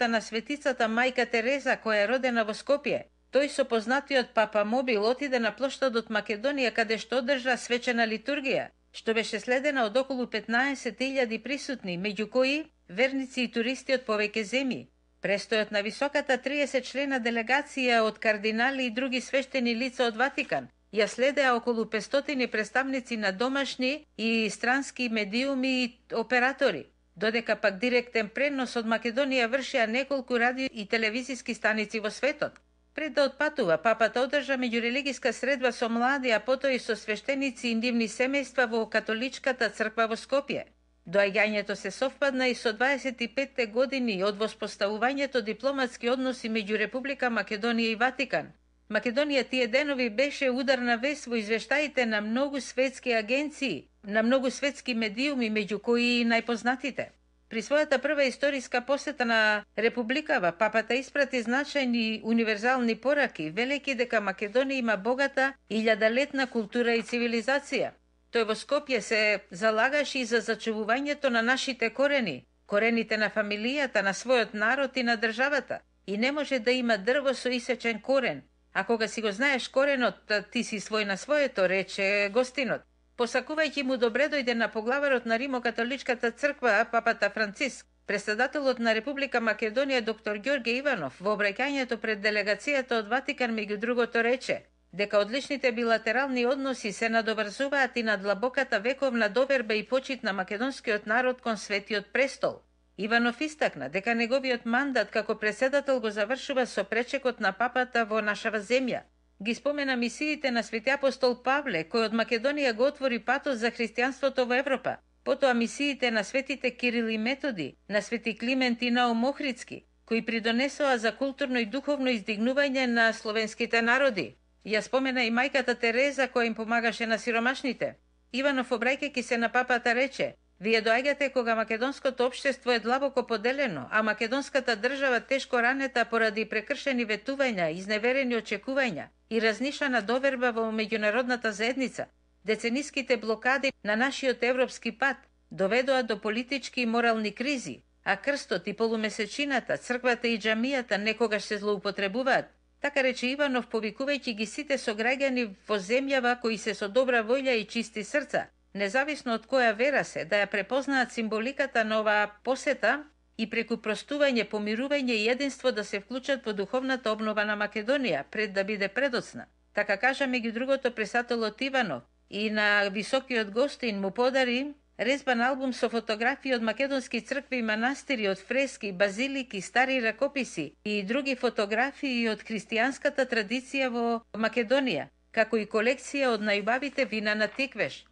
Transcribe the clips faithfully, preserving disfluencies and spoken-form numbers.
посетата на светицата мајка Тереза, која е родена во Скопје. Тој со познатиот папа Мобил отиде на плоштадот Македонија, каде што одржа свечена литургија, што беше следена од околу петнаесет илјади присутни, меѓу кои верници и туристи од повеќе земји. Престојот на високата триесет члена делегација од кардинали и други свештени лица од Ватикан ја следеа околу петстотини представници на домашни и странски медиуми и оператори, додека пак директен пренос од Македонија вршеа неколку радио и телевизиски станици во светот. Пред да отпатува, папата одржа меѓурелигиска средба со млади, а потоа и со свештеници и нивни семејства во католичката црква во Скопје. Доаѓањето се совпадна и со дваесет и петте години од воспоставувањето дипломатски односи меѓу Република Македонија и Ватикан. Македонија тие денови беше ударна вест во извештаите на многу светски агенции, на многу светски медиуми, меѓу кои и најпознатите. При својата прва историска посета на Републикава, папата испрати значајни универзални пораки, велики дека Македонија има богата илјадалетна култура и цивилизација. Тој во Скопје се залагаше и за зачувувањето на нашите корени, корените на фамилијата, на својот народ и на државата. И не може да има дрво со исечен корен. А кога си го знаеш коренот, ти си свој на своето, рече гостинот. Посакувајќи му добре дојде на поглаварот на Римокатоличката црква, папата Франциск, председателот на Република Македонија доктор Ѓорѓе Иванов, во обраќањето пред делегацијата од Ватикан меѓу другото рече дека одличните билатерални односи се надоврзуваат и на длабоката вековна доверба и почит на македонскиот народ кон Светиот престол. Иванов истакна дека неговиот мандат како председател го завршува со пречекот на папата во нашава земја. Ги спомена мисиите на Свети апостол Павле, кој од Македонија го отвори патот за христијанството во Европа. Потоа мисиите на светите Кирил и Методи, на Свети Климент и Наум Охридски, кои придонесоа за културно и духовно издигнување на словенските народи. Ја спомена и мајката Тереза, која им помагаше на сиромашните. Иванов, обраќајќи се на папата, рече: "Вие доаѓате кога македонското општество е длабоко поделено, а македонската држава тешко ранета поради прекршени ветувања, изневерени очекувања и разнишана доверба во меѓународната заедница. Децениските блокади на нашиот европски пат доведоа до политички и морални кризи, а крстот и полумесечината, црквата и џамијата некогаш се злоупотребуваат." Така рече Иванов, повикувајќи ги сите сограѓани во земјава кои се со добра волја и чисти срца, независно од која вера се, да ја препознаат символиката на оваа посета и преку простување, помирување и единство да се вклучат во духовната обнова на Македонија, пред да биде предоцна. Така кажа меѓу другото председателот Иванов и на високиот гостин му подари резбан албум со фотографии од македонски цркви и манастири, од фрески, базилики, стари ракописи и други фотографии од христијанската традиција во Македонија, како и колекција од најубавите вина на Тиквеш.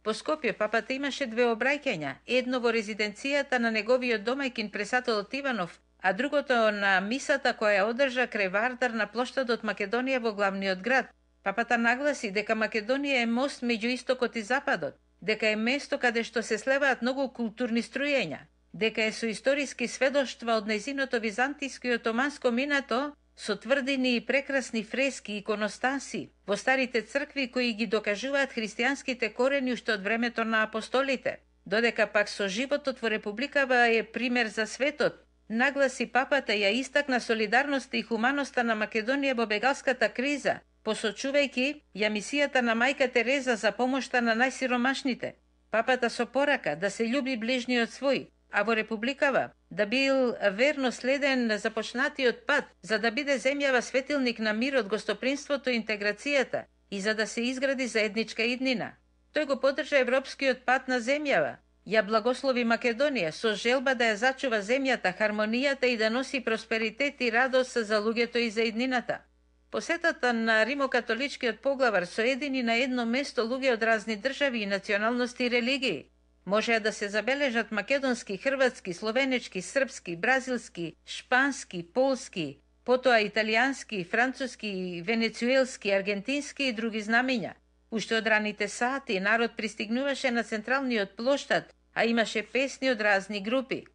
По Скопје папата имаше две обраќања, едно во резиденцијата на неговиот домајкин председателот Иванов, а другото на мисата која одржа крај Вардар на плоштадот Македонија во главниот град. Папата нагласи дека Македонија е мост меѓу истокот и западот, дека е место каде што се слеваат многу културни струјења, дека е со историски сведоштва од нејзиното византиско и отоманско минато, со тврдини и прекрасни фрески и иконостаси во старите цркви кои ги докажуваат христијанските корени уште од времето на апостолите, додека пак со животот во Републикава е пример за светот. Нагласи папата, ја истакна солидарноста и хуманоста на Македонија во бегалската криза, посочувајќи ја мисијата на мајка Тереза за помошта на најсиромашните. Папата со порака да се љуби ближниот свој, а во Републикава да бил верно следен започнатиот пат, за да биде земјава светилник на мирот, гостопримството и интеграцијата и за да се изгради заедничка иднина. Тој го поддржа европскиот пат на земјава, ја благослови Македонија со желба да ја зачува земјата, хармонијата и да носи просперитет и радост за луѓето и за иднината. Посетата на римокатоличкиот поглавар соедини на едно место луѓе од разни држави и националности и религии. Можеа да се забележат македонски, хрватски, словенечки, српски, бразилски, шпански, полски, потоа италијански, француски, венецуелски, аргентински и други знамења. Уште од раните сати народ пристигнуваше на централниот плоштад, а имаше песни од разни групи.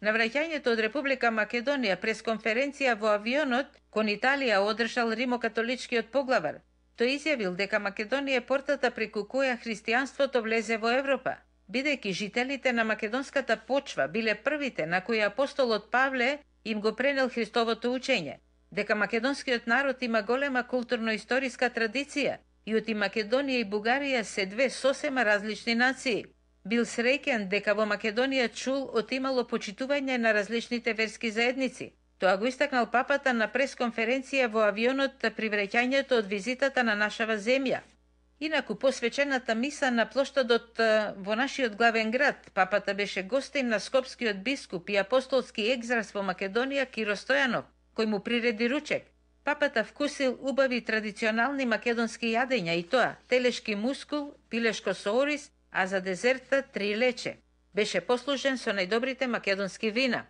На враќањето од Република Македонија през конференција во авионот кон Италија одржал римокатоличкиот поглавар. Тој изјавил дека Македонија е портата преку која христијанството влезе во Европа, бидејќи жителите на македонската почва биле првите на кои апостолот Павле им го пренел Христовото учење, дека македонскиот народ има голема културно-историска традиција и оти Македонија и Бугарија се две сосема различни нации. Бил среќен дека во Македонија чул отимало почитување на различните верски заедници. Тоа го истакнал папата на пресконференција во авионот при враќањето од визитата на нашава земја. Инаку посвечената миса на плоштадот во нашиот главен град, папата беше гостин на скопскиот бискуп и апостолски екзарх во Македонија Киро Стојанов, кој му приреди ручек. Папата вкусил убави традиционални македонски јадења и тоа телешки мускул, пилешко со ориз, а за дезерта три лече. Беше послужен со најдобрите македонски вина.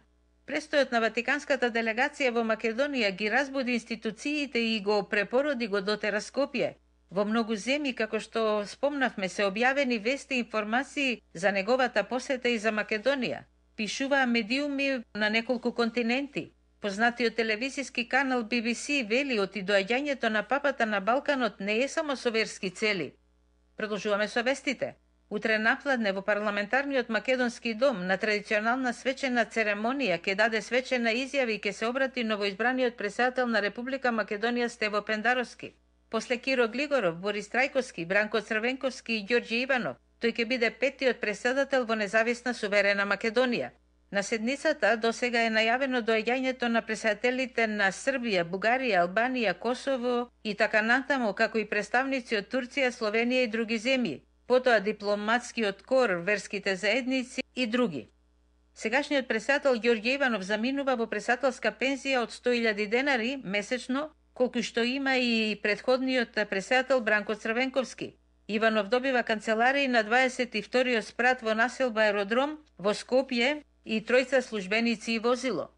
Престојот на Ватиканската делегација во Македонија ги разбуди институциите и го препороди го дотера Скопје. Во многу земји, како што спомнавме, се објавени вести и информации за неговата посета и за Македонија. Пишуваа медиуми на неколку континенти. Познатиот телевизиски канал Би Би Си вели оти доаѓањето на папата на Балканот не е само со верски цели. Продолжуваме со вестите. Утре напладне во парламентарниот македонски дом на традиционална свечена церемонија ќе даде свечена изјава и ќе се обрати новоизбраниот претседател на Република Македонија Стево Пендаровски. После Киро Глигоров, Борис Трајковски, Бранко Црвенковски и Ѓорѓе Иванов, тој ќе биде петтиот претседател во независна суверена Македонија. На седницата досега е најавено доаѓањето на претседателите на Србија, Бугарија, Албанија, Косово и така натаму, како и представници од Турција, Словенија и други земји. Потоа дипломатскиот кор, верските заедници и други. Сегашниот претседател Ѓорѓе Иванов заминува во претседателска пензија од сто илјади денари месечно, колку што има и претходниот претседател Бранко Црвенковски. Иванов добива канцеларија на дваесет и вториот спрат во населба Аеродром во Скопје и тројца службеници и возило.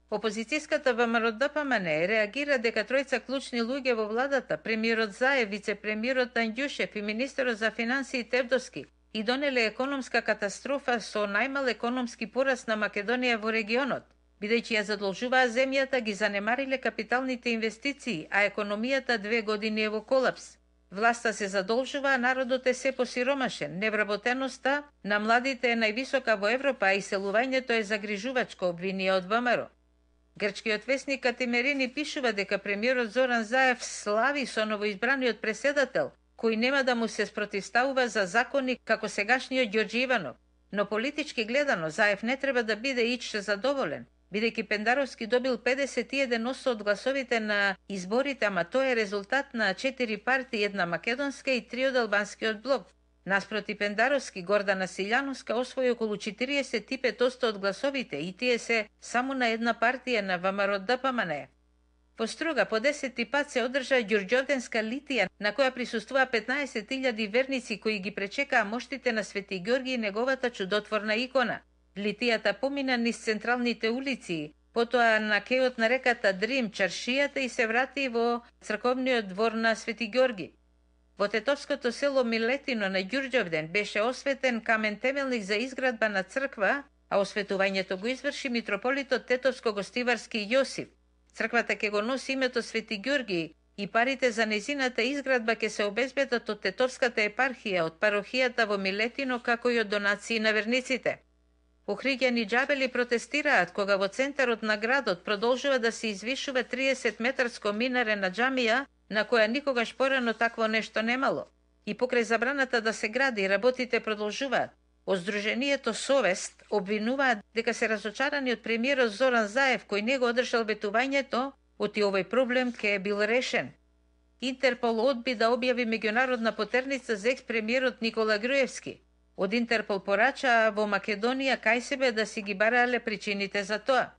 Опозицијската ВМРО Д П М Н реагира дека тројца клучни луѓе во владата, премиерот Заев, вице-премиерот Андјушев и министерот за финансии Тевдовски, и донеле економска катастрофа со најмал економски пораст на Македонија во регионот, бидејќи ја задолжуваа земјата, ги занемариле капиталните инвестиции, а економијата две години е во колапс. Власта се задолжува, а народот е се посиромашен. Невработеноста на младите е највисока во Европа, а иселувањето е загрижувачко, обвинија од ВМРО. Грчкиот весник Катимерини пишува дека премиерот Зоран Заев слави со новоизбраниот претседател, кој нема да му се спротивставува за закони како сегашниот Ѓорѓе Иванов. Но политички гледано, Заев не треба да биде ич задоволен, бидејќи Пендаровски добил педесет и еден одсто од гласовите на изборите, ама тоа е резултат на четири партии, една македонска и три од албанскиот блок. Наспроти Пендаровски, Гордана Силјановска освои околу четириесет и пет одсто од гласовите и тие се само на една партија на ВМРО Д П М Н. По Струга по десети пат се одржа Ѓурѓовденска литија, на која присуствува петнаесет илјади верници кои ги пречекаа моштите на Свети Ѓорги и неговата чудотворна икона. Литијата помина низ централните улици, потоа на кејот на реката Дрим, чаршијата и се врати во црковниот двор на Свети Ѓорги. Во тетовското село Милетино на Ѓурѓовден беше осветен камен темелник за изградба на црква, а осветувањето го изврши митрополитот Тетовско-Гостиварски Јосиф. Црквата ќе го носи името Свети Ѓорги и парите за незината изградба ќе се обезбедат од Тетовската епархија, од парохијата во Милетино, како и од донации на верниците. Охриѓани џабели протестираат кога во центарот на градот продолжува да се извишува триесет метарско минаре на џамија, на која никогаш порано такво нешто немало. И покрај забраната да се гради, работите продолжуваат. Од Сдруженијето Совест обвинуваат дека се разочарани од премиерот Зоран Заев, кој не го одржал ветувањето, оти овој проблем ке е бил решен. Интерпол одби да објави меѓународна потерница за екс-премиерот Никола Груевски. Од Интерпол порача во Македонија кај себе да си ги барале причините за тоа.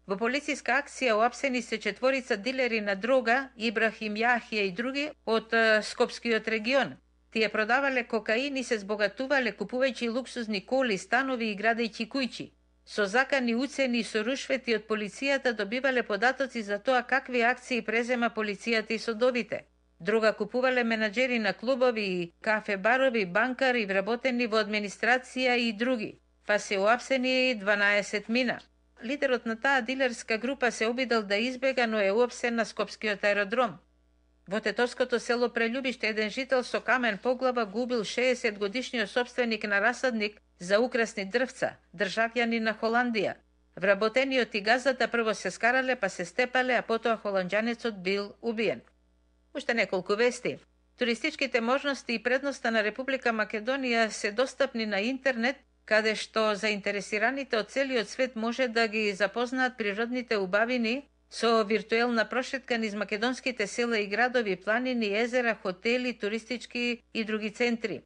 Во полициска акција уапсени се четворица дилери на дрога, Ибрахим Јахија и други од е, Скопскиот регион. Тие продавале кокаин и се збогатувале купувајќи луксузни коли, станови и градејќи куќи. Со закани уцени и со рушвети од полицијата добивале податоци за тоа какви акции презема полицијата и судовите. Друга купувале менаџери на клубови, кафе-барови, банкари, вработени во администрација и други. Па се уапсени дванаесет мина. Лидерот на таа дилерска група се обидел да избега, но е уапсен на Скопскиот аеродром. Во тетовското село Прелюбиште еден жител со камен по глава губил шеесет годишниот собственик на расадник за украсни дрвца, државјани на Холандија. Вработениот и газдата прво се скарале, па се степале, а потоа холанџанецот бил убиен. Уште неколку вести. Туристичките можности и предноста на Република Македонија се достапни на интернет, каде што заинтересираните од целиот свет може да ги запознаат природните убавини со виртуелна прошетка низ македонските села и градови, планини, езера, хотели, туристички и други центри.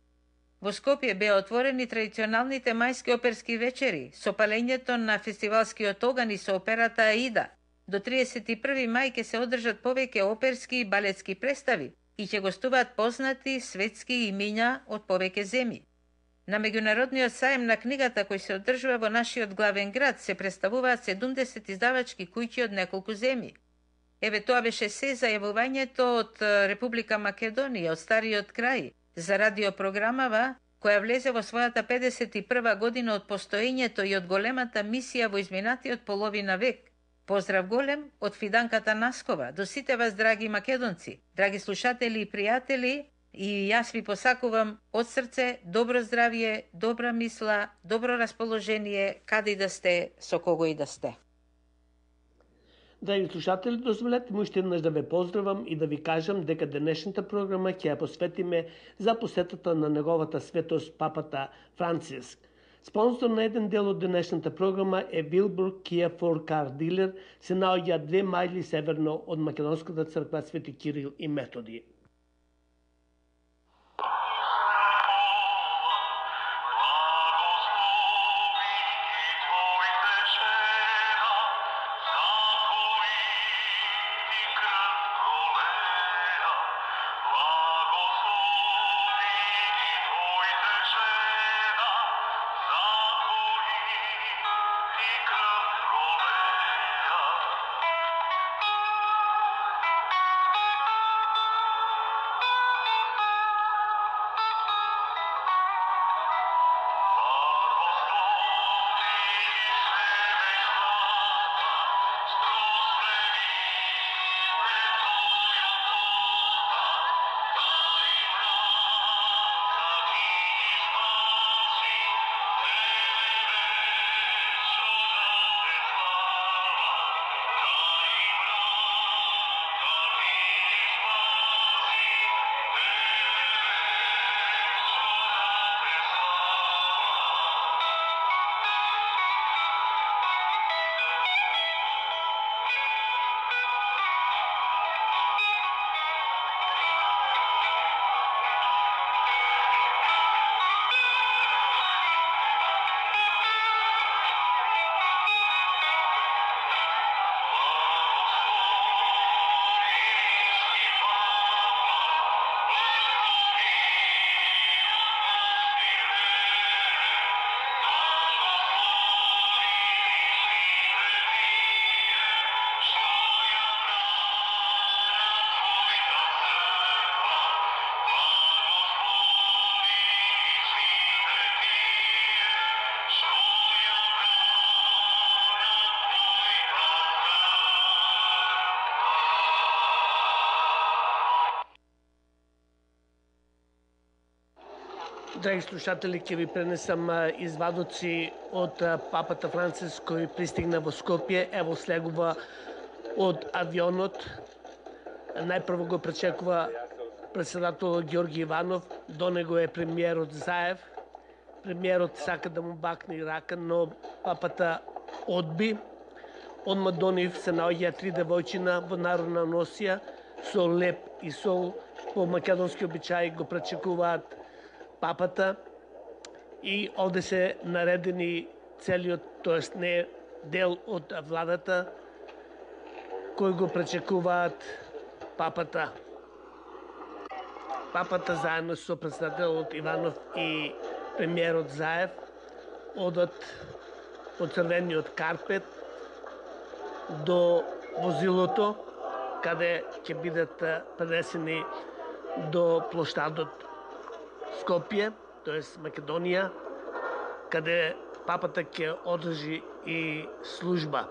Во Скопје беа отворени традиционалните мајски оперски вечери, со палењето на фестивалскиот оган и со операта Аида. До триесет и први мај ќе се одржат повеќе оперски и балетски представи и ќе гостуваат познати светски имиња од повеќе земји. На меѓународниот саем на книгата кој се одржува во нашиот главен град се представуваат седумдесет издавачки куќи од неколку земји. Еве тоа беше се за јавувањето од Република Македонија, од стариот крај, за радиопрограмава која влезе во својата педесет и прва година од постоењето и од големата мисија во изминатиот половина век. Поздрав голем од Фиданката Наскова, до сите вас, драги македонци, драги слушатели и пријатели, и јас ви посакувам од срце добро здравје, добра мисла, добро расположение, каде и да сте, со кого и да сте. Драги слушатели, дозволете ми уште еднаш да ве поздравам и да ви кажам дека денешната програма ќе ја посветиме за посетата на неговата светост папата Франциск. Спонсор на еден дел од денешната програма е Вилбург Kia for Car Dealer, се наоѓа две мајли северно од македонската црква Свети Кирил и Методи. Драги слушатели, ќе ви пренесам извадоци од папата Франциск кој пристигна во Скопје. Ево слегува од авионот. Најпрво го пречекува председател Георги Иванов, до него е премиерот Заев. Премиерот сака да му бакне рака, но папата одби. Одма до нив се наоѓа три девојчина во народна носија со леп и сол. По македонски обичаи го пречекуваат папата и овде се наредени целиот, тоест не дел од владата кој го пречекуваат папата. Папата заедно со председателот Иванов и премиерот Заев одат по црвениот карпет до возилото каде ќе бидат пренесени до плоштадот Скопје, тоест Македонија, каде папата ќе одржи и служба.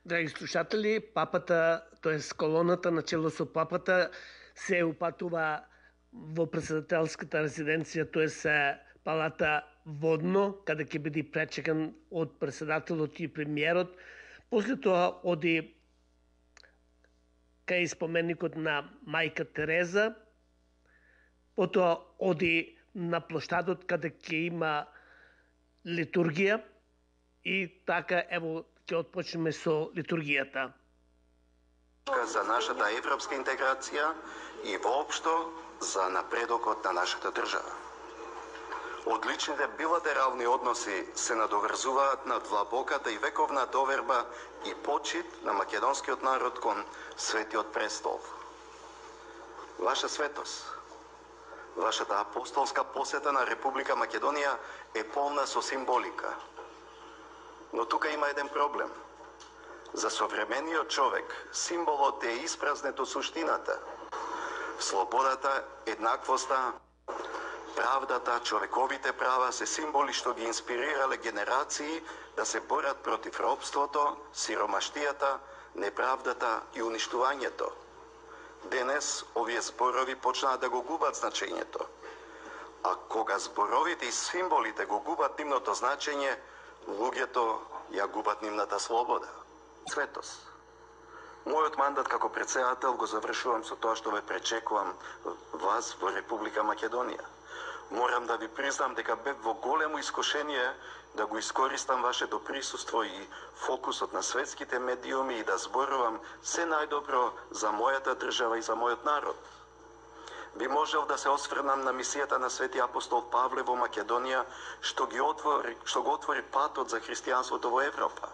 Драги слушатели, папата, тоест колоната начело со папата се упатува во председателската резиденција, тоест палата водно, каде ќе биде пречекан од председателот и премиерот. После тоа оди кај споменикот на Мајка Тереза, потоа оди на плоштадот каде ќе има литургија и така ево ќе отпочнеме со литургијата. За нашата европска интеграција и воопшто за напредокот на нашата држава. Одличните билатерални односи се надоврзуваат на длабоката и вековна доверба и почит на македонскиот народ кон Светиот престол. Ваша светост, вашата апостолска посета на Република Македонија е полна со символика. Но тука има еден проблем. За современиот човек символот е испразнет од суштината. Слободата, еднаквоста, правдата, човековите права се символи што ги инспирирале генерации да се борат против робството, сиромаштијата, неправдата и уништувањето. Денес овие зборови почнаа да го губат значењето. А кога зборовите и символите го губат нивното значење, луѓето ја губат нивната слобода. Светост. Мојот мандат како претседател го завршувам со тоа што ве пречекувам вас во Република Македонија. Морам да ви признам дека бев во големо искушение да го искористам вашето присуство и фокусот на светските медиуми и да зборувам се најдобро за мојата држава и за мојот народ. Би можел да се осврнам на мисијата на Свети апостол Павле во Македонија, што ги отвори, што го отвори патот за христијанството во Европа.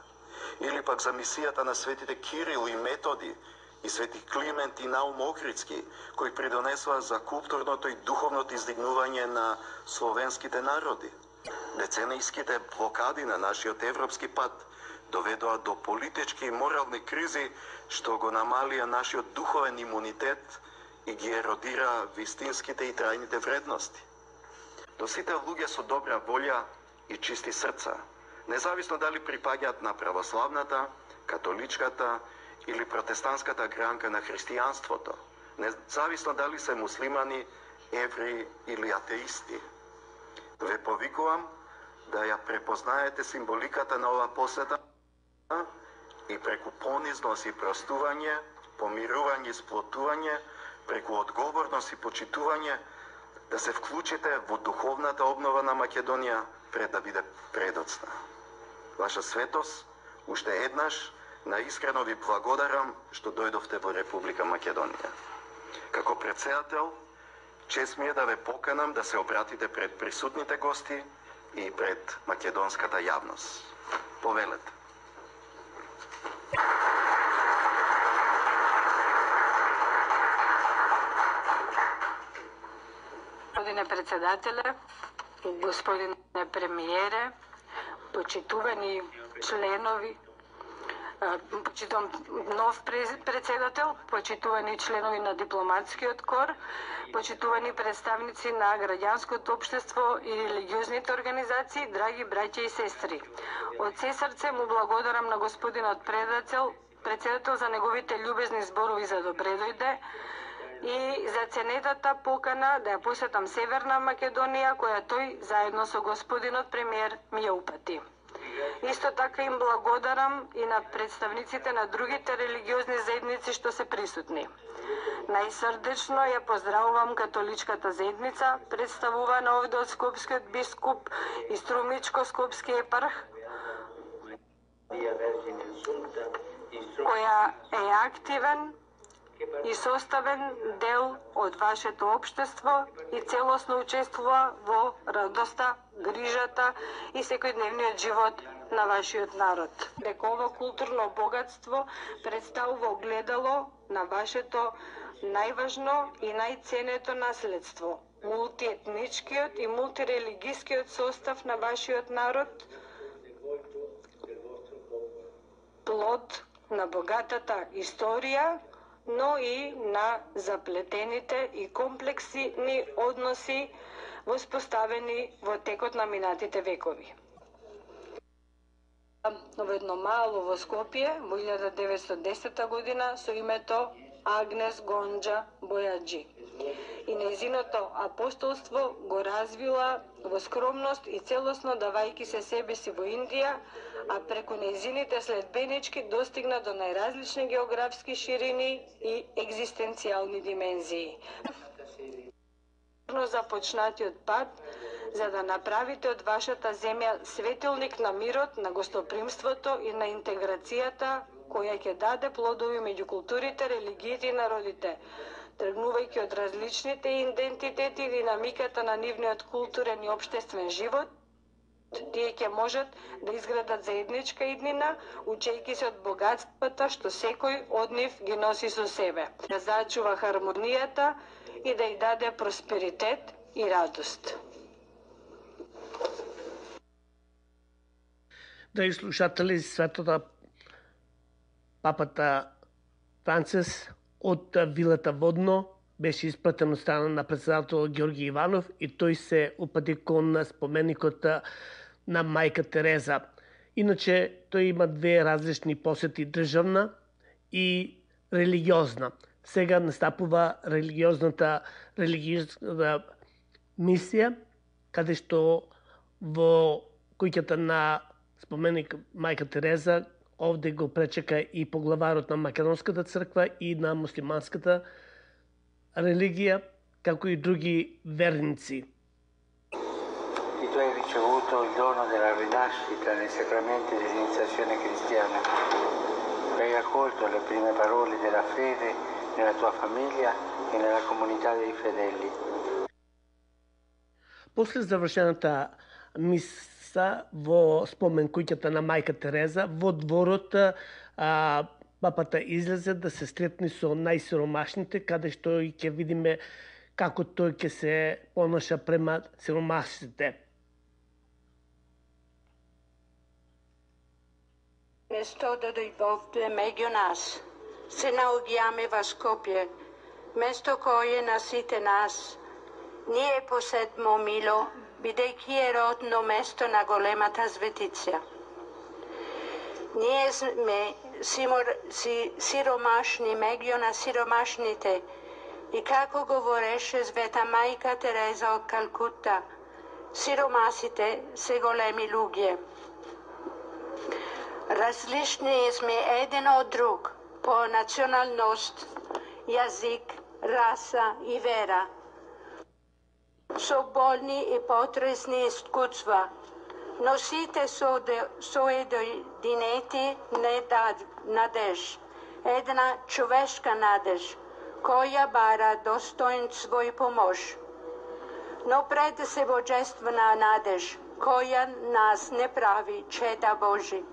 Или пак за мисијата на светите Кирил и Методи и свети Климент и Наум Охридски, кои придонесоа за културното и духовното издигнување на словенските народи. Децениските блокади на нашиот европски пат доведоа до политички и морални кризи што го намалија нашиот духовен имунитет и ги еродира вистинските и трајните вредности. До сите луѓе со добра волја и чисти срца, независно дали припаѓаат на православната, католичката или протестантската гранка на христијанството, независно дали се муслимани, евреи или атеисти. Ве повикувам да ја препознаете символиката на ова посета и преку понизност и простување, помирување и сплотување, преку одговорност и почитување, да се вклучите во духовната обнова на Македонија пред да биде предоцна. Ваша светост, уште еднаш, наискрено ви благодарам што дојдовте во Република Македонија. Како претседател, чест ми е да ве поканам да се обратите пред присутните гости и пред македонската јавност. Повелете. Господине председателе, господине премиере, почитувани членови, почитувам нов председател, почитувани членови на дипломатскиот кор, почитувани представници на граѓанското општество и религиозните организации, драги браќа и сестри. Од се срце му благодарам на господинот председател, председател за неговите љубезни зборови за добре дојде и за ценетата покана да ја посетам Северна Македонија, која тој заедно со господинот премиер ми ја упати. Исто така им благодарам и на представниците на другите религиозни заедници што се присутни. Најсрдечно ја поздравувам католичката заедница, представувана овде од скопскиот бискуп и струмичко-скопски епарх, која е активен и составен дел од вашето општество и целосно учествува во радоста, грижата и секојдневниот живот на вашиот народ. Дека ова културно богатство представува огледало на вашето најважно и најценето наследство, мултиетничкиот и мултирелигискиот состав на вашиот народ, плод на богатата историја, но и на заплетените и комплексни односи воспоставени во текот на минатите векови. Во едно мало во Скопје во илјада деветстотини и десета година со името Агнес Гонџа Бојаджи. и нејзиното апостолство го развила во скромност и целосно давајќи се себе си во Индија, а преку нејзините следбенички достигна до најразлични географски ширини и екзистенцијални димензии. Започнатиот пат за да направите од вашата земја светилник на мирот, на гостопримството и на интеграцијата, која ќе даде плодови меѓу културите, религиите и народите. Тргнувајќи од различните идентитети и динамиката на нивниот културен и обштествен живот, тие ќе можат да изградат заедничка иднина, учејќи се од богатствата што секој од нив ги носи со себе, да зачува хармонијата и да ја даде просперитет и радост. Драги слушатели, светото папата Францис од вилата Водно беше испратен од страна на председател Георги Иванов и тој се упати кон споменикот на мајка Тереза. Иначе тој има две различни посети, државна и религиозна. Сега настапува религиозната религиозна мисија, каде што во куќата на споменик мајка Тереза овде го пречека и поглаварот на македонската црква и на муслиманската религија, како и други верници. E tu hai ricevuto il dono della rinascita nei sacramenti dell'iniziazione cristiana. Hai accolto le prime parole della fede nella tua famiglia e nella comunità dei fedeli. После завршената миса во спомен куќата на мајка Тереза, во дворот а, папата излезе да се сретне со најсиромашните, каде што и ќе видиме како тој ќе се понаша према сиромашните. Место да дојдовте меѓу нас, се наоѓаме во Скопје, место кое на сите нас. Ние поседмо мило, бидејќи е родно место на големата светица. Ние сме симор, си, сиромашни меѓу на сиромашните и како говореше света мајка Тереза од Калкута, сиромасите се големи луѓе. Различни сме еден од друг по националност, јазик, раса и вера. Со болни и потресни искуства, но сите соединети надеж, една човешка надеж, која бара достоинство и помош. Но пред се божествена надеж, која нас не прави чеда Божи.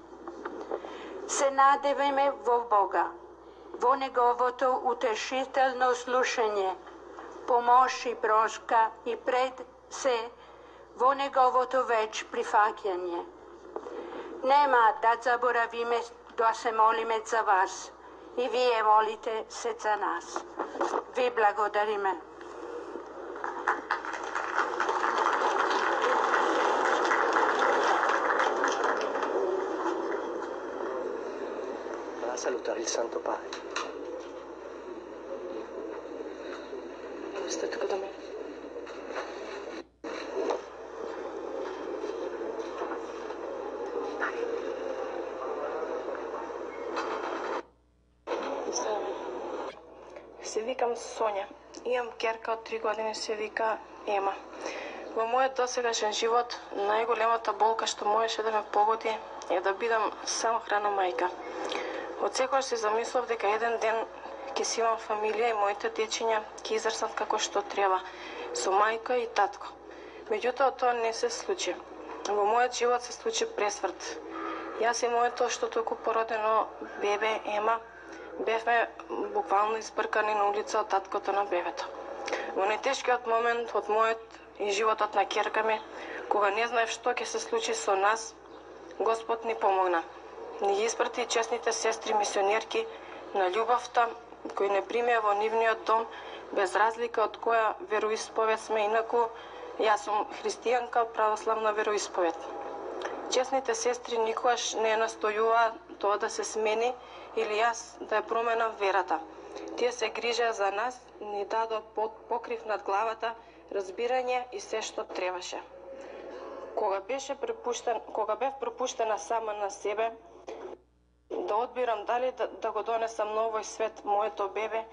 Се надеваме во Бога, во Неговото утешително слушање, помош и прошка и пред се во Неговото веч прифаќање. Нема да заборавиме да се молиме за вас и вие молите се за нас. Ви благодариме. Salutare il Santo Padre. Stai tuo da me. Се викам Сонја. Имам керка од три години, се вика Ема. Во мојот досегашен живот, најголемата болка што можеше да ме погоди е да бидам самохрана мајка. Од секојаш се замислав дека еден ден ќе си имам фамилија и моите дечиња ќе израснат како што треба, со мајка и татко. Меѓутоа тоа не се случи. Во мојот живот се случи пресврт. Јас и моето што току породено бебе Ема бевме буквално избркани на улица од таткото на бебето. Во најтешкиот момент од мојот и животот на ќерка ми, кога не знаев што ќе се случи со нас, Господ ни помогна. Ни ги испрати честните сестри мисионерки на љубовта, кои не примеа во нивниот дом, без разлика од која вероисповед сме, инаку јас сум христијанка, православна вероисповед. Честните сестри никогаш не настојуваа тоа да се смени или јас да ја променам верата. Тие се грижеа за нас, ни дадоа покрив над главата, разбирање и се што требаше. Кога беше препуштен, кога бев препуштена сама на себе, да одбирам дали да, да го донесам на овој свет моето бебе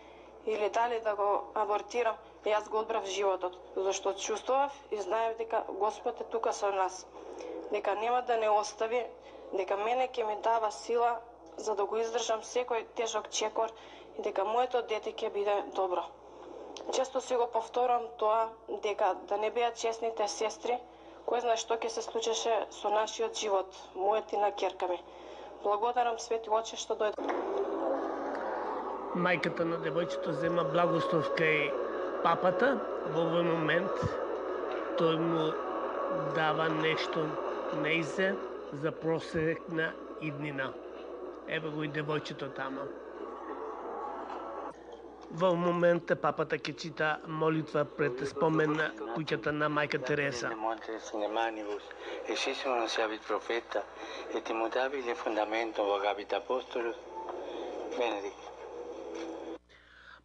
или дали да го абортирам, јас го одбрав животот, зашто чувствував и знаев дека Господ е тука со нас, дека нема да не остави, дека мене ќе ми дава сила за да го издржам секој тежок чекор и дека моето дете ќе биде добро. Често си го повторам тоа, дека да не беа честните сестри, кој знае што ќе се случеше со нашиот живот, мојот и на ќерка ми. Благодарам Свети Оче што дојде. Мајката на девојчето зема благослов кај папата. Во овој момент тој му дава нешто неизе за просекна иднина. Еве го и девојчето тама. Во момента папата ќе чита молитва пред спомен на куќата на мајка Тереза.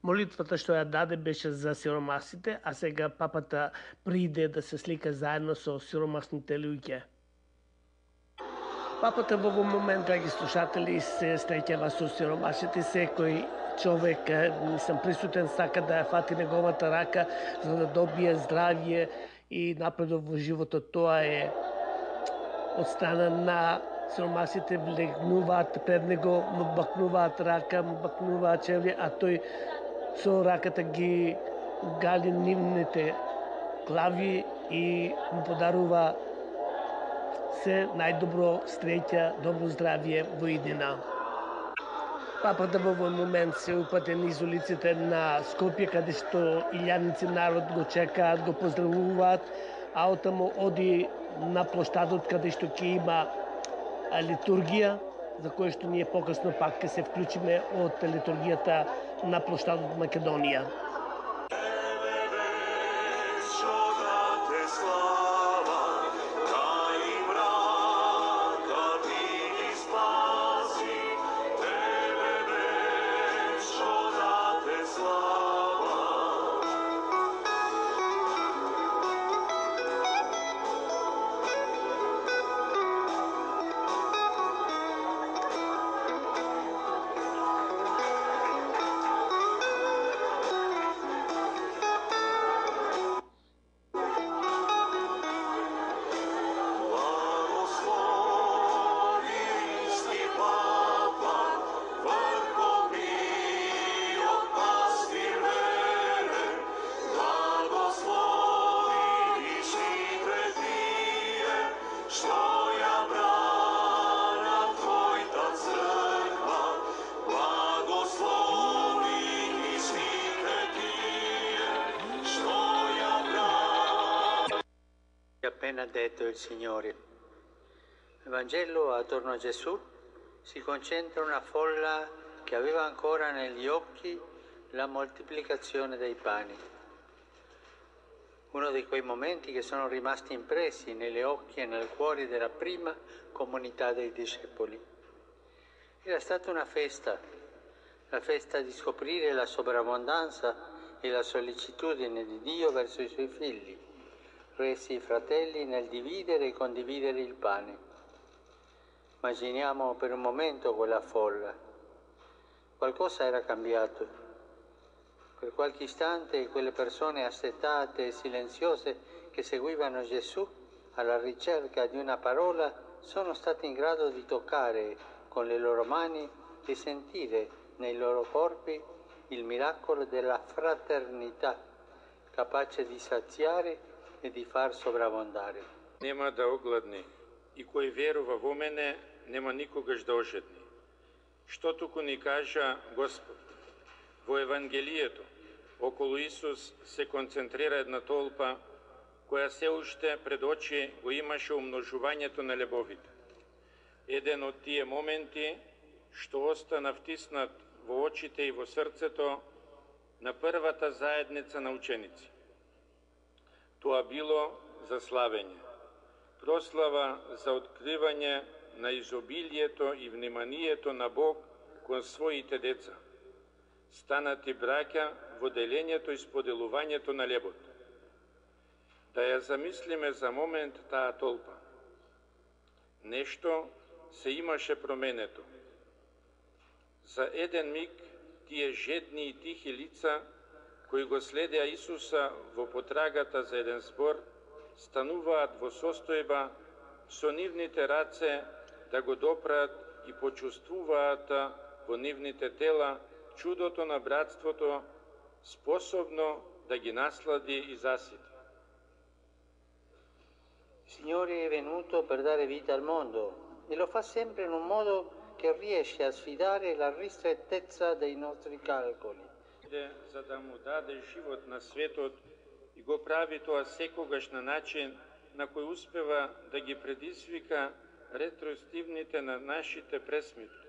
Молитвата што ја даде беше за сиромасите, а сега папата приде да се слика заедно со сиромасните луѓе. Папата во овој момент, драги слушатели, се среќава со сиромасите. Секој човек, сам присутен, сака да ја фати неговата рака за да добие здравје и напредок во животот. Тоа е од страна на сиромасите, влегнуваат пред него, му бакнуваат рака, му бакнуваат чевли, а тој со раката ги гали нивните глави и му подарува се најдобро среќа, добро здравје во иднина. Папата во овој момент се упате низ улиците на Скопје, каде што илјадници народ го чекаат, го поздравуваат, а оттаму оди на площадот каде што ќе има литургија, за која што ние покасно пак ќе се вклучиме од литургијата на площадот Македонија. Appena detto il Signore. Nel Vangelo attorno a Gesù si concentra una folla che aveva ancora negli occhi la moltiplicazione dei pani. Uno di quei momenti che sono rimasti impressi negli occhi e nel cuore della prima comunità dei discepoli. Era stata una festa, la festa di scoprire la sovrabbondanza e la sollecitudine di Dio verso i suoi figli, resi fratelli nel dividere e condividere il pane. Immaginiamo per un momento quella folla. Qualcosa era cambiato. Per qualche istante quelle persone assetate e silenziose che seguivano Gesù alla ricerca di una parola sono state in grado di toccare con le loro mani e sentire nei loro corpi il miracolo della fraternità, capace di saziare и да фар собравондare. Нема да огладни и кој верува во мене нема никогаш да ожедни. Што туку ни кажа Господ? Во Евангелието околу Исус се концентрира една толпа која се уште пред очи го имаше умножувањето на лебовите. Еден од тие моменти што остана втиснат во очите и во срцето на првата заедница на ученици. Тоа било за славење, прослава за откривање на изобилието и вниманието на Бог кон своите деца. Станати браќа во делењето и споделувањето на лебот. Да ја замислиме за момент таа толпа. Нешто се имаше променето. За еден миг тие жедни и тихи лица, кои го следеа Исуса во потрагата за еден збор, стануваат во состојба со нивните раце да го допраат и почувствуваат во нивните тела чудото на братството, способно да ги наслади и засити. Il Signore è venuto per dare vita al mondo e lo fa sempre in un modo che riesce a sfidare la ristrettezza dei nostri calcoli. За да му даде живот на светот и го прави тоа секогаш на начин на кој успева да ги предизвика ретроспективните на нашите пресметки,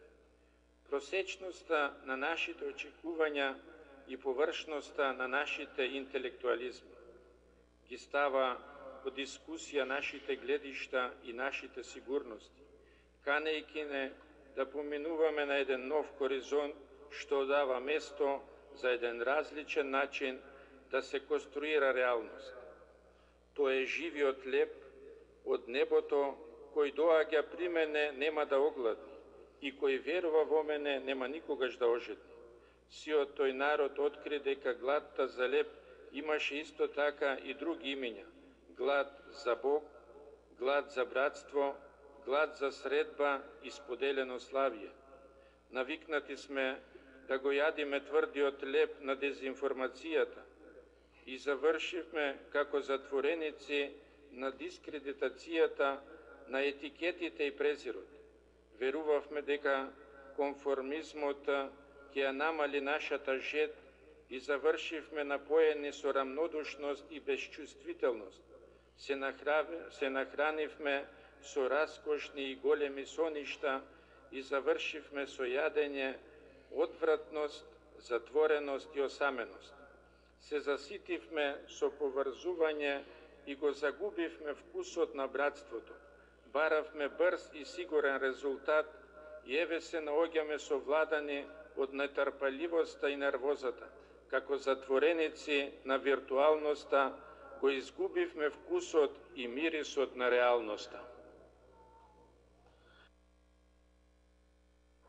просечноста на нашите очекувања и површноста на нашите интелектуализми. Ги става во дискусија нашите гледишта и нашите сигурности, канејќи не да поминуваме на еден нов хоризонт што дава место за еден различен начин да се конструира реалност. Тоа е живиот леп од небото кој доаѓа при мене нема да огладни и кој верува во мене нема никогаш да ожедни. Сиот тој народ откри дека гладта за леп имаше исто така и други имења. Глад за Бог, глад за братство, глад за средба и споделено славие. Навикнати сме да го јадиме тврдиот леп на дезинформацијата и завршивме како затвореници на дискредитацијата на етикетите и презирот. Верувавме дека конформизмот ќе ја намали нашата жед и завршивме напоени со рамнодушност и безчувствителност. Се, нахрави, се нахранивме со раскошни и големи соништа и завршивме со јадење, одвратност, затвореност и осаменост. Се заситивме со поврзување и го загубивме вкусот на братството. Баравме брз и сигурен резултат и еве се наоѓаме совладани од нетрпеливоста и нервозата. Како затвореници на виртуалноста го изгубивме вкусот и мирисот на реалноста.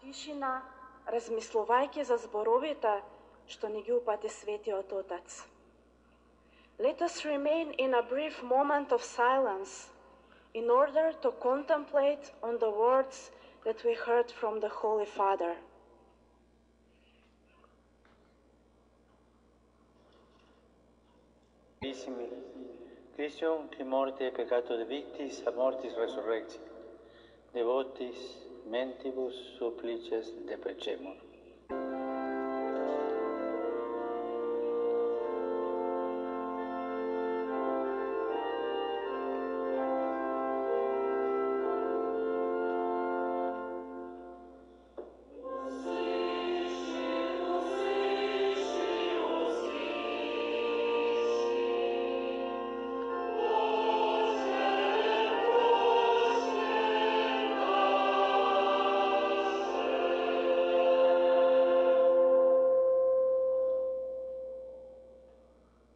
Тишина, размислувајќи за зборовите што ни ги упати Светиот Отец. Let us remain in a brief moment of silence in order to contemplate on the words that we heard from the Holy Father. Carissimi, Christium qui morte e peccato de victis, a mortis resurrecti, devotis, mentibus supplices deprecemur.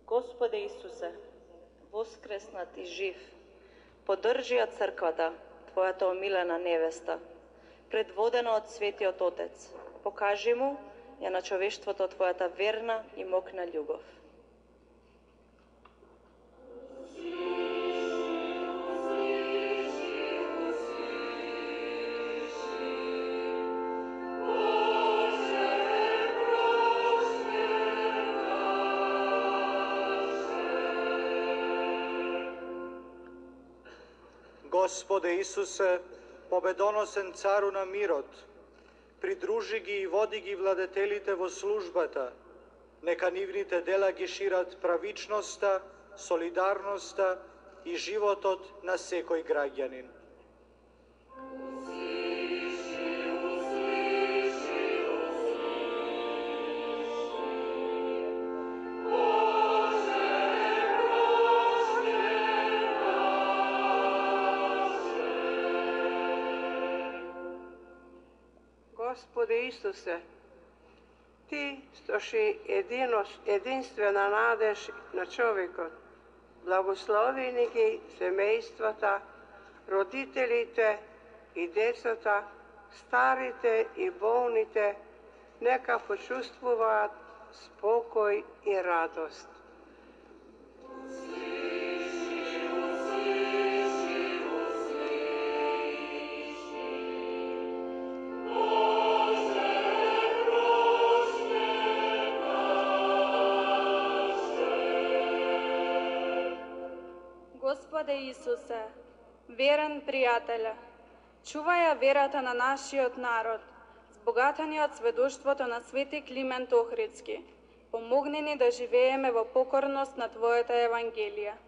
Господе Исусе, воскреснат и жив, поддржи ја црквата, Твојата омилена невеста, предводена од Светиот Отец. Покажи му ја на човештвото Твојата верна и мокна љубов. Господе Исусе, победоносен цару на мирот, придружи ги и води ги владетелите во службата, нека нивните дела ги шират правичноста, солидарноста и животот на секој граѓанин. Господе Исусе, Ти што си единствена надеж на човекот, благослови ни ги семејствата, родителите и децата, старите и болните, нека почувствуваат спокој и радост. Господе Исусе, верен пријателе, чувај ја верата на нашиот народ, збогатени од сведоштвото на свети Климент Охридски. Помогни ни да живееме во покорност на Твојата Евангелија.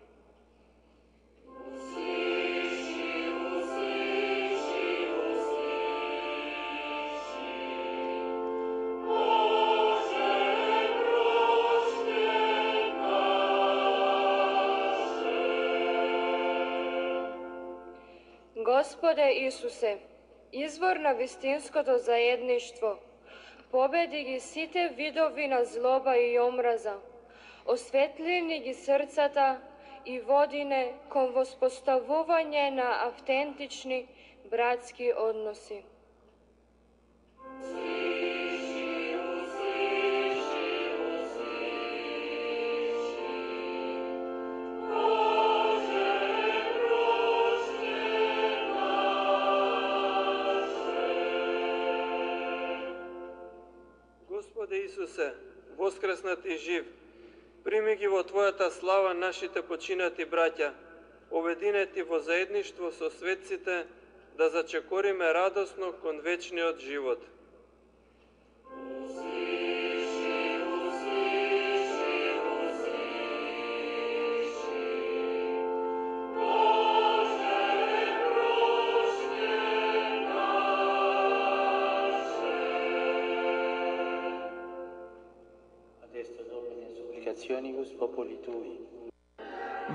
Господе Исусе, извор на вистинското заедништво, победи ги сите видови на злоба и омраза, осветли ни ги срцата и води не кон воспоставување на автентични братски односи. Господе Исусе, воскреснат и жив, прими ги во Твојата слава нашите починати браќа, обединети во заедништво со светците, да зачекориме радосно кон вечниот живот.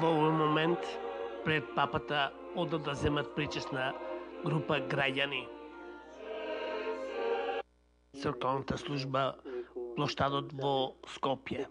Во овој момент, пред папата одат да земат причесна група граѓани. Црковната служба, плоштадот во Скопје.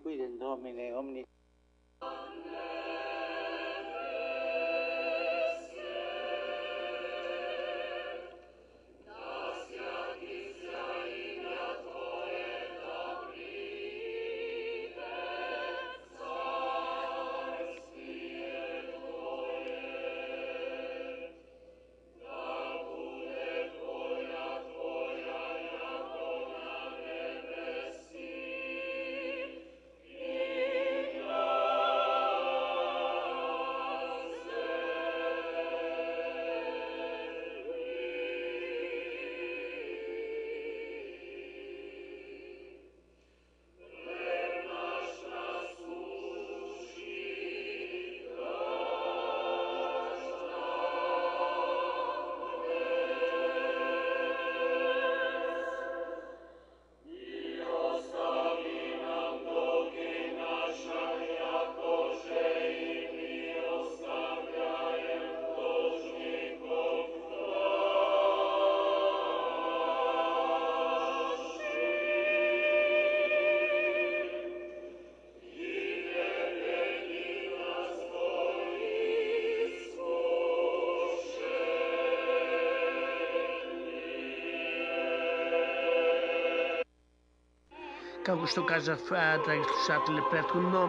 Како што кажав, драги слушатели, претходно,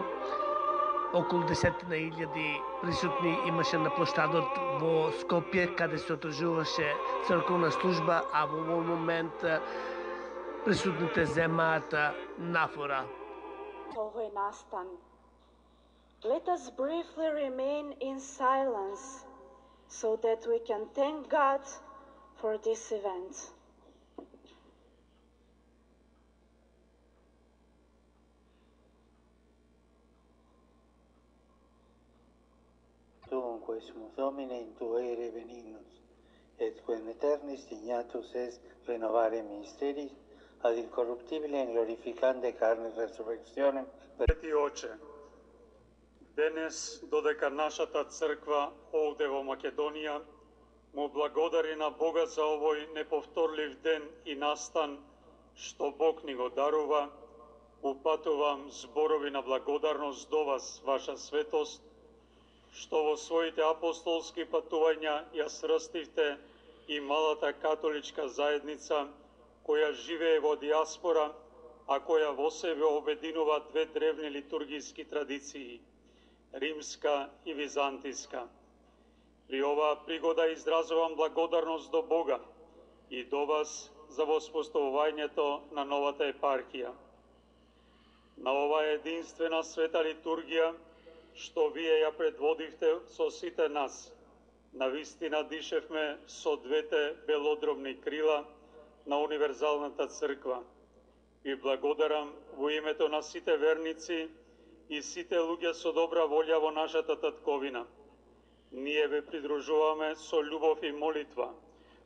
околу десетина илјади присутни имаше на плоштадот во Скопје, каде се одржуваше црковна служба, а во овој момент присутните земаат нафора. Овој настан. Let us briefly remain in silence so that we can thank God for this event. Dunque, sumus Domine in tuere benignus, et quem eternis dignatus est renovare misteris, ad incorruptibile in glorificande carne resurrectionem. Свети Оче, денес, додека нашата црква овде во Македонија му благодари на Бога за овој неповторлив ден и настан, што Бог ни го дарува. Упатувам зборови на благодарност до вас, ваша светост, што во своите апостолски патувања ја срстивте и малата католичка заедница, која живее во диаспора, а која во себе обединува две древни литургиски традиции – римска и византиска. При оваа пригода изразувам благодарност до Бога и до вас за воспоставувањето на новата епархија. На оваа единствена света литургија, што вие ја предводивте со сите нас, навистина дишевме со двете белодробни крила на универзалната црква. Ви благодарам во името на сите верници и сите луѓе со добра волја во нашата татковина. Ние ве придружуваме со љубов и молитва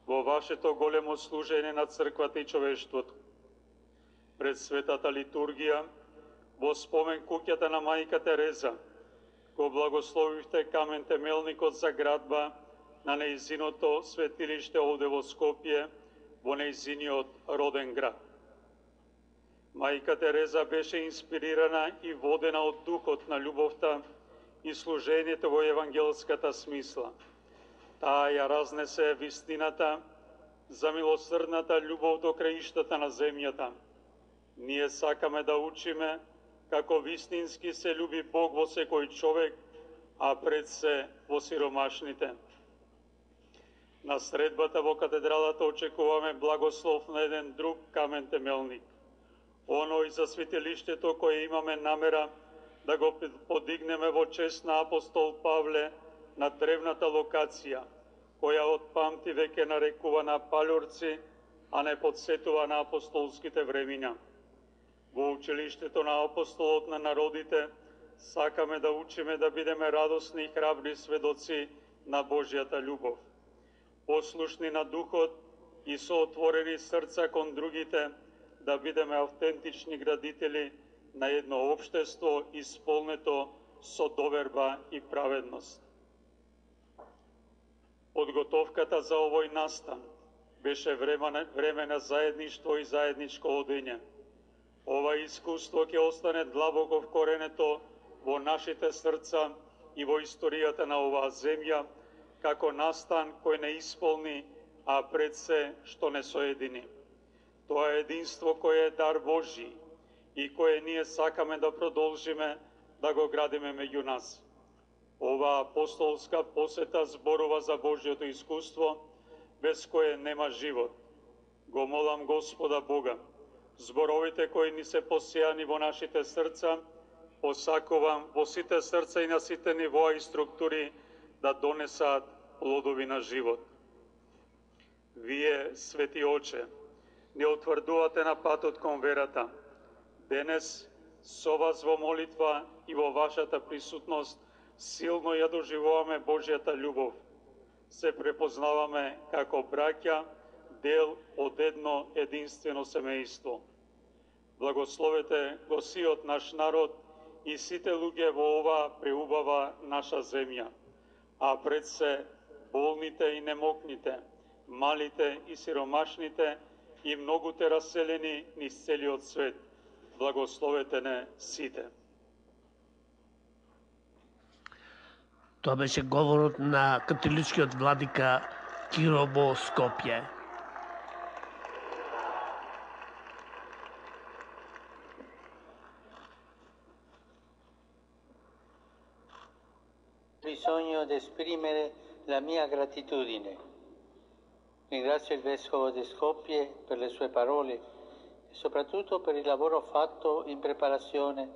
во вашето големо служење на црквата и човештвото. Пред светата литургија, во спомен куќата на мајка Тереза, го благословивте камен темелникот за градба на нејзиното светилиште овде во Скопје, во нејзиниот роден град. Мајка Тереза беше инспирирана и водена од духот на љубовта и служењето во евангелската смисла. Таа ја разнесе вистината за милосрдната љубов до краиштата на земјата. Ние сакаме да учиме како вистински се љуби Бог во секој човек, а пред се во сиромашните. На средбата во катедралата очекуваме благослов на еден друг камен темелник. Оној за светилиштето кое имаме намера да го подигнеме во чест на апостол Павле на древната локација, која од памти веќе нарекувана Палјорци, а не подсетува на апостолските времиња. Во училиштето на апостолот на народите сакаме да учиме да бидеме радосни и храбри сведоци на Божјата љубов, послушни на духот и со отворени срца кон другите, да бидеме автентични градители на едно општество исполнето со доверба и праведност. Подготовката за овој настан беше време, време на заедништво и заедничко одење. Ова искуство ќе остане длабоко вкоренето во нашите срца и во историјата на оваа земја, како настан кој не исполни, а пред се што не соедини. Тоа е единство кое е дар Божи и кое ние сакаме да продолжиме да го градиме меѓу нас. Оваа апостолска посета зборува за Божјото искуство, без кое нема живот. Го молам Господа Бога, зборовите кои ни се посејани во нашите срца, посакувам во сите срца и на сите нивоа и структури да донесаат плодови на живот. Вие, Свети Оче, не утврдувате на патот кон верата. Денес, со вас во молитва и во вашата присутност, силно ја доживуваме Божјата љубов. Се препознаваме како браќа, дел од едно единствено семејство. Благословете го сиот наш народ и сите луѓе во оваа преубава наша земја, а пред се болните и немокните, малите и сиромашните и многуте раселени низ целиот свет. Благословете не сите. Тоа беше говорот на католичкиот владика Киро во Скопје. Bisogno di esprimere la mia gratitudine. Ringrazio il Vescovo di Skopje per le sue parole e soprattutto per il lavoro fatto in preparazione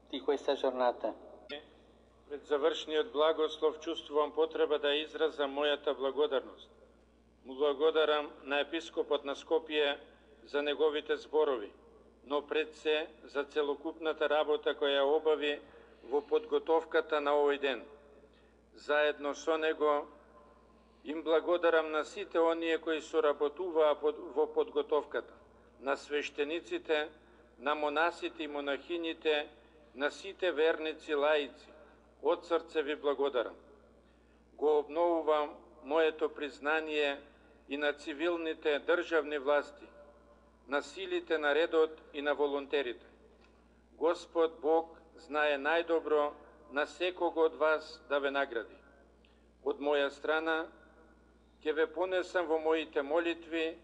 di questa giornata. Пред завршниот благослов чувствувам потреба да изразам мојата благодарност. Му благодарам на епископот на Скопје за неговите зборови, но пред се за целокупната работа која обави во подготовката на овој ден. Заедно со него им благодарам на сите оние кои соработуваа во подготовката, на свештениците, на монасите и монахините, на сите верници лаици. Од срце ви благодарам. Го обновувам моето признание и на цивилните државни власти, на силите на редот и на волонтерите. Господ Бог знае најдобро на секого од вас да ве награди. Од моја страна, ќе ве понесам во моите молитви,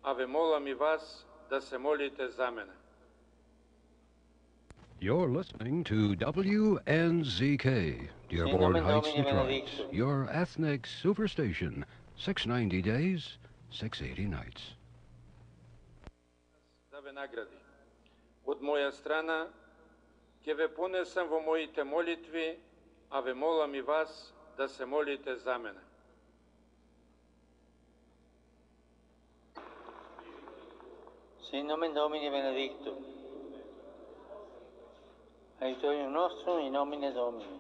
а ве молам и вас да се молите за мене. You're listening to W N Z K, Dearborn Heights, Detroit, your ethnic superstation, six ninety days, six eighty nights. Да ве награди. Од моја страна, ќе ве понесам во моите молитви, а ве молам и вас да се молите за мене. Sin nomen Domini benedictum. Aiutorium nostrum in nomine Domini.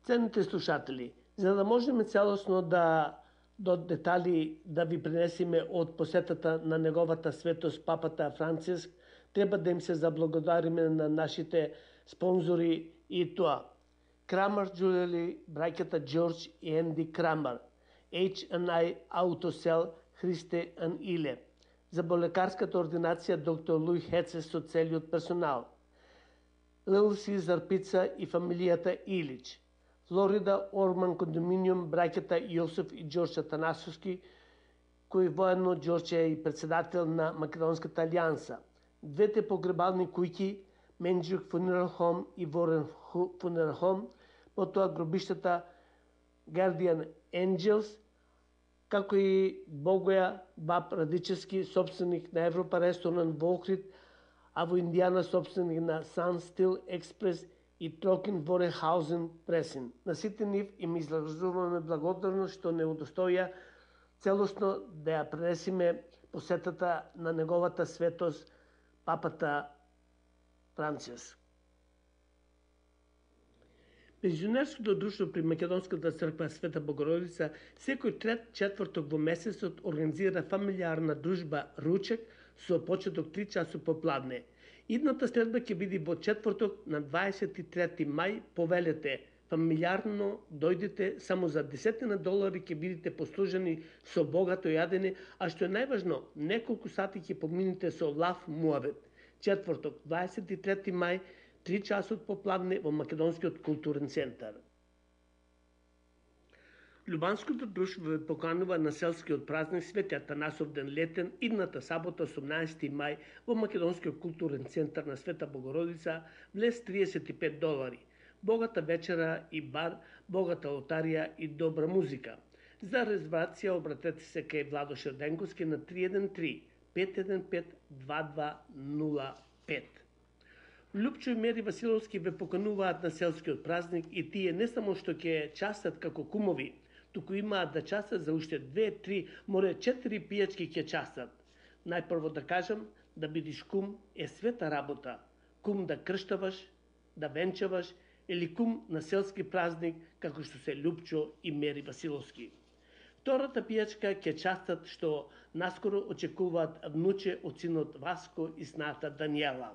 Ценните слушатели, за да можеме целосно да до детали да ви пренесеме од посетата на неговата светост папата Франциск, треба да им се заблагодариме на нашите спонзори и тоа. Крамер Джулели, браќата Џорџ и Енди Крамер, H and I Autosell, Христе and Иле, заболекарската ординација доктор Луј Хецес со целиот персонал, Лил Сизар Пица и фамилијата Илич, Флорида Орман кондоминиум, браќата Јосиф и Џорџ Атанасовски, кој воедно Џорџ е и председател на Македонската алијанса, двете погребални куќи, Менџук Funeral Home и Ворен Funeral Home, потоа гробиштата Guardian Angels, како и Богоја Баб Радичевски, собственик на Европа ресторант во Охрид, а во Индијана собственик на Sun Steel Express и Трокен Ворехаузен Пресин. На сите нив им изразуваме благодарност што не удостоја целосно да ја пренесиме посетата на неговата светост папата Франциск. Пензионерското друштво при Македонската црква Света Богородица секој трет четврток во месецот организира фамилиарна дружба ручек со почеток три часу попладне. Идната следба ќе биде во четврток на дваесет и трети мај по Велете фамилиарно дојдете, само за десетина долари ќе бидете послужени со богато јадење, а што е најважно, неколку сати ќе помините со лав муавет. Четврток, дваесет и трети мај, три часот попладне во Македонскиот културен центар. Љубанското друштво ве поканува на селскиот празник Свети Атанасов ден летен идната сабота осумнаесети мај во Македонскиот културен центар на Света Богородица, влез триесет и пет долари. Богата вечера и бар, богата лотарија и добра музика. За резервација обратете се кај Владо Шерденковски на три еден три пет еден пет два два нула пет. Лупчо и Мери Василовски ве покануваат на селскиот празник и тие не само што ќе частат како кумови, туку имаат да частат за уште две, три, море четири пијачки ќе частат. Најпрво да кажам, да бидиш кум е света работа. Кум да крштаваш, да венчаваш или кум на селски празник, како што се Лупчо и Мери Василовски. Втората пијачка ќе частат што наскоро очекуваат внуче од синот Васко и сната Даниела.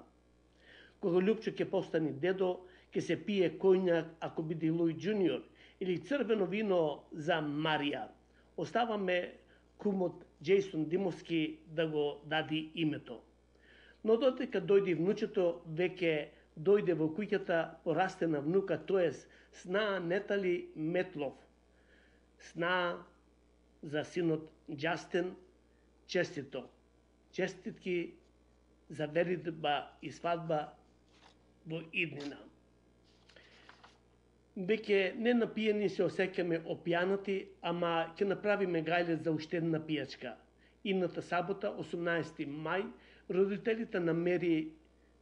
Кога Лупчо ќе постане дедо, ќе се пие коњак ако биде Луј Джуниор или црвено вино за Марија. Оставаме кумот Джейсон Димовски да го дади името. Но додека дојде внучето, веќе дојде во куќата порастена внука, тоест сна Нетали Метлов. Сна за синот Джастин, честито. Честитки за веридба и свадба во иднина. Веќе не напиени се осеќаме опјанати, ама ќе направиме гајле за уште една пијачка. Идната сабота, осумнаесети мај, родителите на Мери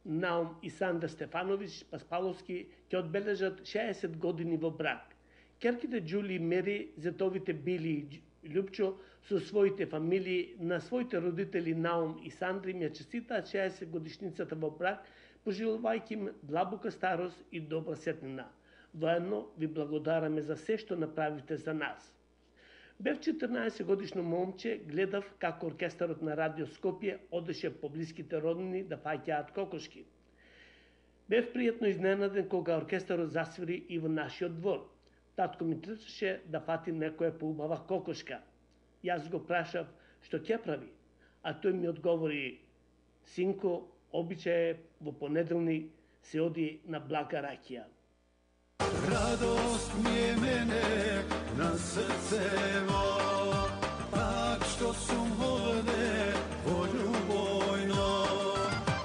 Наум и Сандра Стефановиќ Паспаловски ќе одбележат шеесет години во брак. Керките Џули и Мери, зетовите Били и Лупчо со своите фамилии на своите родители Наум и Сандри ми ја честитаат шеесет годишницата во брак, пожелувајќи им длабока старост и добра сетнина. Воедно ви благодараме за се што направите за нас. Бев четрнаесет годишно момче, гледав како оркестарот на Радио Скопје одеше по блиските роднини да фаќаат кокошки. Бев пријатно изненаден кога оркестарот засвири и во нашиот двор. Татко ми трчаше да фати некоја поубава кокошка. Јас го прашав што ќе прави, а тој ми одговори: синко, обичај во понеделник се оди на блага ракија. Радост ми е мене на срцево, пак што сум овде во љубојно,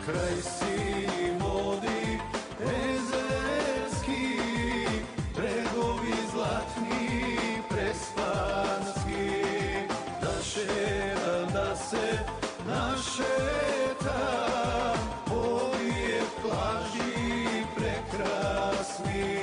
крај сини води езерски, брегови златни преспански, да шетам, да се нашетам, овие плажи прекрасни.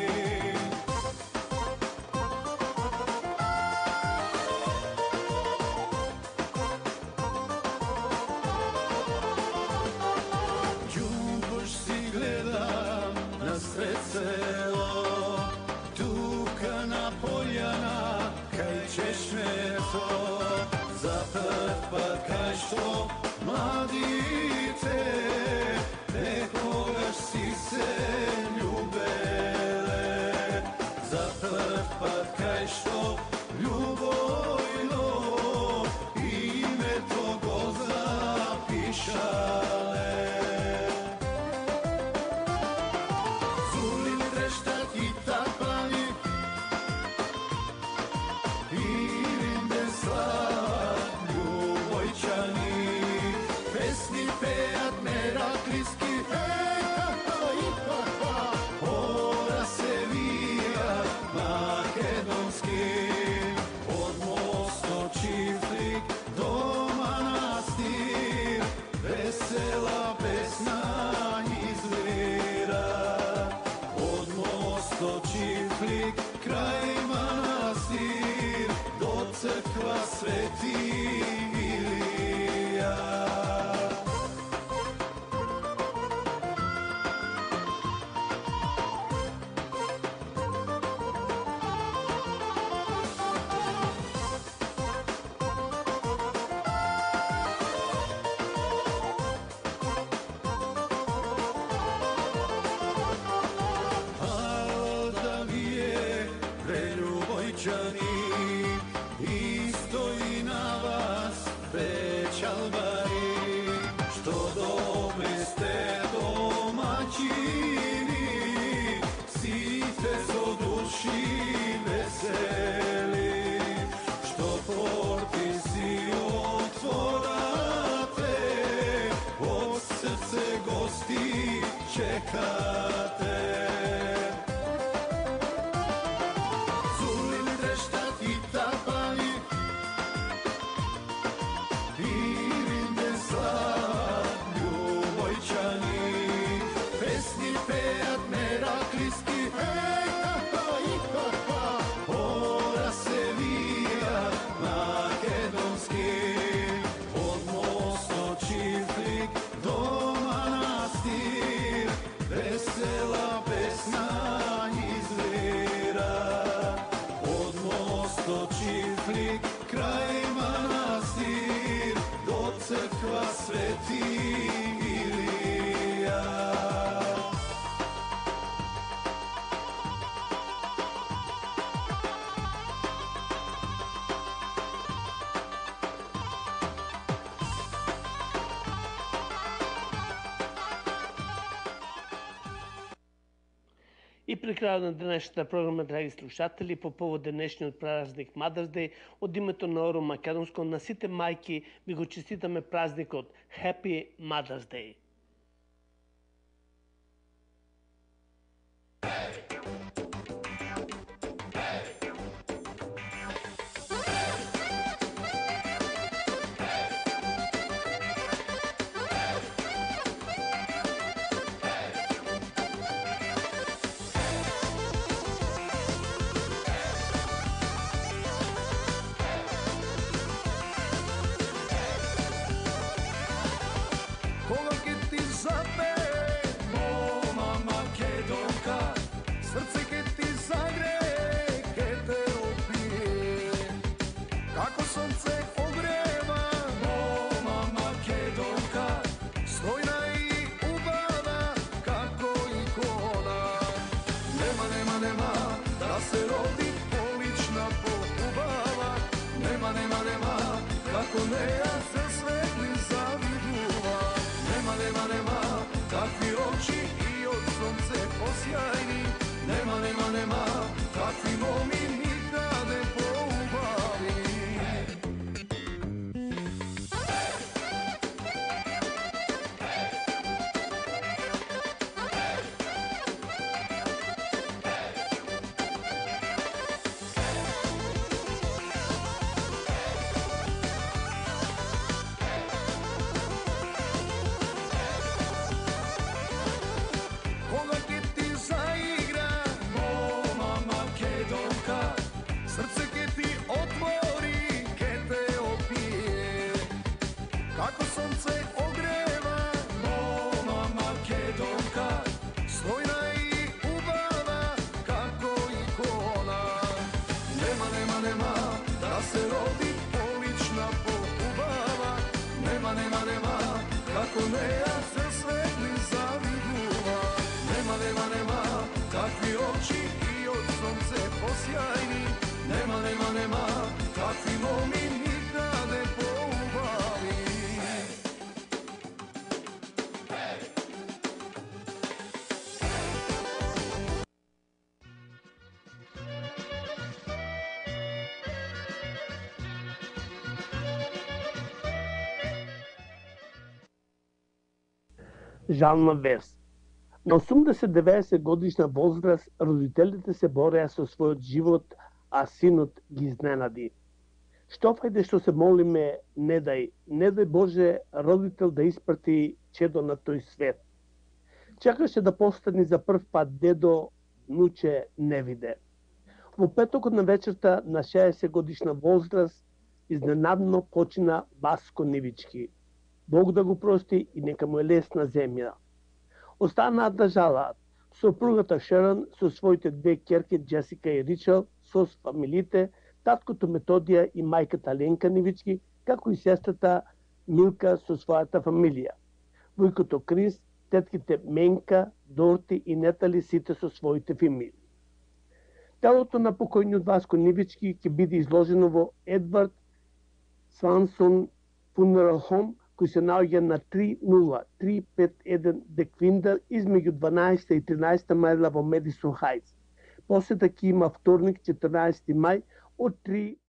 Што младите некогаш си се љубеле, за прв пат кај што љубојно името го запишале. Зули трештат и тапани и ринде слава, песни пеат, ме čekate. Zulili dreštat i tapani, i rinde slad ljubojčani, pesni pejat merakliski, hej, ha, ha, i ha, ha, ora se vija makedonski, od mosto Čiflik do manastir, vesela pesna izvira. Od mosto Čiflik kraj manastir, do crkva Sveti Ilija. И при крајот на денешната програма, драги слушатели, по повод денешниот празник Mother's Day, од името на Оро Македонско, на сите мајки ви го честитаме празникот Happy Mother's Day. Кога ќе ти запее мома македонка, срце ќе ти загрее, ќе те опие. Како сонце огрева мома македонка, стојна и убава како икона. Нема, нема, нема да се роди полична поубава. Нема, нема, нема како неа се светли завидува. Нема, нема, нема такви очи и од сонце посјајни. Нема, нема, нема такви моми никаде поубави. Кога ќе ти заигра мома македонка, срце ќе ти отвори, ќе те опие. Како сонце огрева мома македонка, стојна и убава како икона. Нема, нема, нема да се роди полична поубава. Нема, нема, нема како неа се светли завидува. Нема, нема, нема такви очи и од сонце посјајни. Нема, нема, нема такви моми никаде поубави. Жална вест. На осумдесет-деветдесет годишна возраст родителите се бореа со својот живот, а синот ги изненади. Што фајде што се молиме, не дај, не дај Боже родител да испрати чедо на тој свет. Чекаше да постани за прв пат дедо, нуче не виде. Во петокот на вечерта на шеесет годишна возраст изненадно почина Васко Нивички. Бог да го прости и нека му е лесна земја. Останаат да жалаат сопругата Шерон со своите две ќерки Джесика и Ричел, со фамилите, таткото Методија и мајката Ленка Нивички, како и сестрата Милка со својата фамилија. Војкото Крис, тетките Менка, Дорти и Нетали сите со своите фамилии. Телото на покојниот Васко Нивички ќе биде изложено во Едвард Свансон Funeral Home, кој се наоѓа на три нула три пет еден Деквиндер измеѓу дванаесетта и тринаесетта мајла во Медисон Хајтс. Посета ќе има вторник четрнаесети мај од три